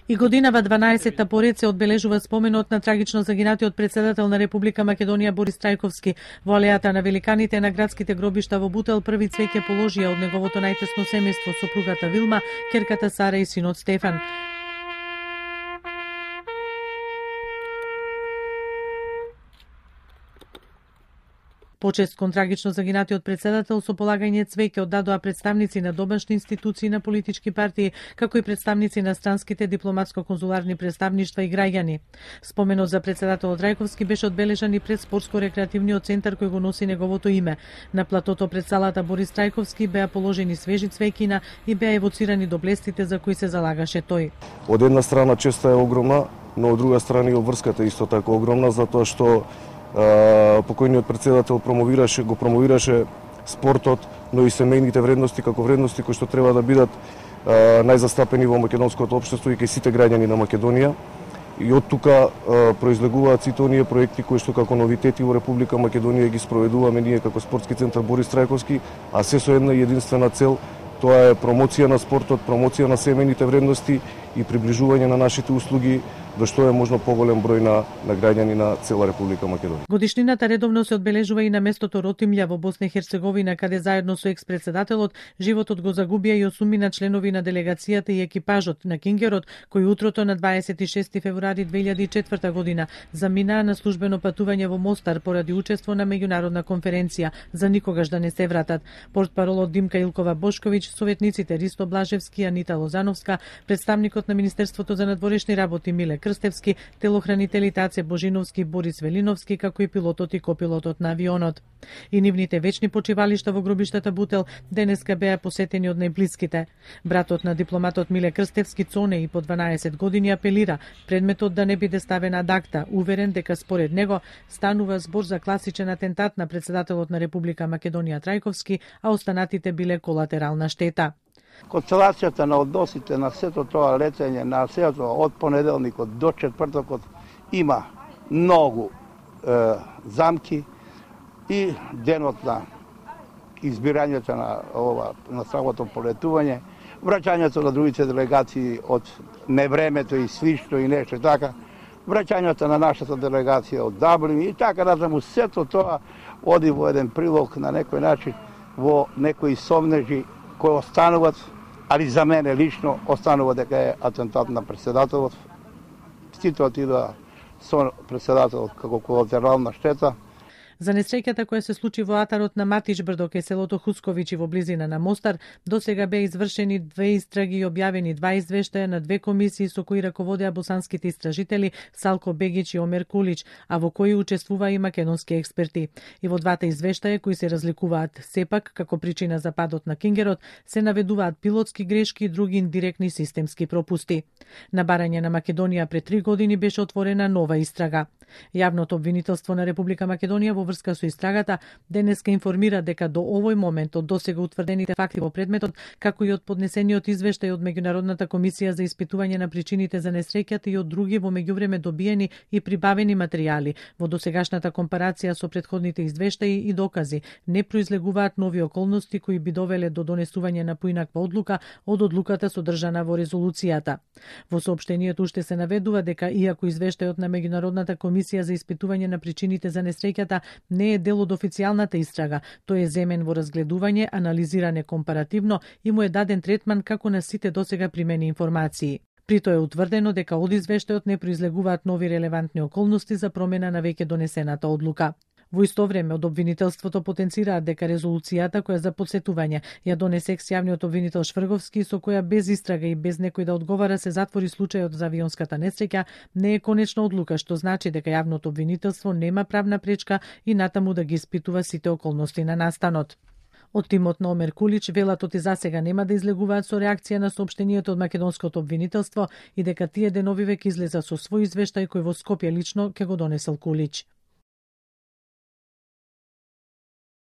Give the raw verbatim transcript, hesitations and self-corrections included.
И годинава дванаесетта поред се одбележува споменот на трагично загинатиот председател на Република Македонија Борис Трајковски. Во алејата на великаните на градските гробишта во Бутел први цвеќе положија од неговото најтесно семејство, сопругата Вилма, ќерката Сара и синот Стефан. Почест кон трагично загинатиот председател со полагање цвеќе оддадоа представници на домашни институции на политички партии, како и представници на странските дипломатско-конзуларни представништва и граѓани. Споменот за председателот Трајковски беше одбележан и пред спортско-рекреативниот центар кој го носи неговото име. На платото пред салата Борис Трајковски беа положени свежи цвеќина и беа евоцирани доблестите за кои се залагаше тој. Од една страна честа е огромна, но од друга страна и обврската исто така огромна, затоа што покојниот председател промовираше, го промовираше спортот, но и семејните вредности како вредности кои што треба да бидат најзастапени во македонското општество и кај сите граѓани на Македонија. И од тука произлегуваат сите оние проекти кои што како новитети во Република Македонија ги спроведуваме ние како спортски центар Борис Трајковски, а се со една единствена цел, тоа е промоција на спортот, промоција на семејните вредности и приближување на нашите услуги до што е можно поголем број на, на граѓани на цела Република Македонија. Годишнината редовно се одбележува и на местото Ротимља во Босна и Херцеговина, каде заедно со екс-председателот животот го загубија и осумина членови на делегацијата и екипажот на Кингерот, кои утрото на дваесет и шести февруари две илјади и четврта година заминаа на службено патување во Мостар поради учество на меѓународна конференција за никогаш да не се вратат. Портпаролот Димка Илкова Бошковиќ, советниците Ристо Блажевски, Анита Лозановска, представникот на Министерството за надворешни работи Миле Крстевски, телохранителите Аце Божиновски, Борис Велиновски, како и пилотот и копилотот на авионот. И нивните вечни почивалишта во гробиштата Бутел денеска беа посетени од најблиските. Братот на дипломатот Миле Крстевски, Цоне, и по дванаесет години апелира предметот да не биде ставен ад акта, уверен дека според него станува збор за класичен атентат на председателот на Република Македонија Трајковски, а останатите биле колатерална штета. Констелацијата на односите на сето тоа летење на сето од понеделникот до четвртокот има многу е, замки и денот на избирањето на ова на самото полетување, враќањето на другите делегации од невремето и свишто и нешто така, враќањето на нашата делегација од Даблин и така натаму, сето тоа оди во еден прилог на некој начин во некои сомнежи кои остануват, али за мене лично останува дека е атентат на председателот. Сите отидоа со председателот како колатерална штета. За несреќата која се случи во атарот на Матич брдо кај селото Хусковичи во близина на Мостар, досега беа извршени две истраги и објавени два извештаја на две комисии со кои раководеа босанските истражители Салко Бегич и Омер Кулич, а во кои учествува и македонски експерти. И во двата извештаја, кои се разликуваат сепак како причина за падот на Кингерот, се наведуваат пилотски грешки и други индиректни системски пропусти. На барање на Македонија пред три години беше отворена нова истрага. Јавното обвинителство на Република Македонија во врска со истрагата денеска информира дека до овој момент од досега утврдените факти во предметот, како и од поднесениот извештај од Меѓународната комисија за испитување на причините за несреќата и од други во меѓувреме добиени и прибавени материјали, во досегашната компарација со претходните извештаи и докази, не произлегуваат нови околности кои би довеле до донесување на поинаква одлука од одлуката содржана во резолуцијата. Во соопштениот уште се наведува дека иако извештајот на Меѓународната комисија за испитување на причините за несреќата не е дел од официјалната истрага, тој е земен во разгледување, анализиране компаративно и му е даден третман како на сите досега примени информации. При тоа е утврдено дека од извештајот не произлегуваат нови релевантни околности за промена на веќе донесената одлука. Во исто време од обвинителството потенцираат дека резолуцијата која за подсетување ја донесе екс-јавниот обвинител Шврговски, со која без истрага и без некој да одговара се затвори случајот за авионската несреќа, не е конечна одлука, што значи дека јавното обвинителство нема правна пречка и натаму да ги испитува сите околности на настанот. Од тимот на Омер Кулич велат и засега нема да излегуваат со реакција на соопштението од македонското обвинителство и дека тие денови веќе излеза со свој извештај кој во Скопје лично ќе го донесел Кулич.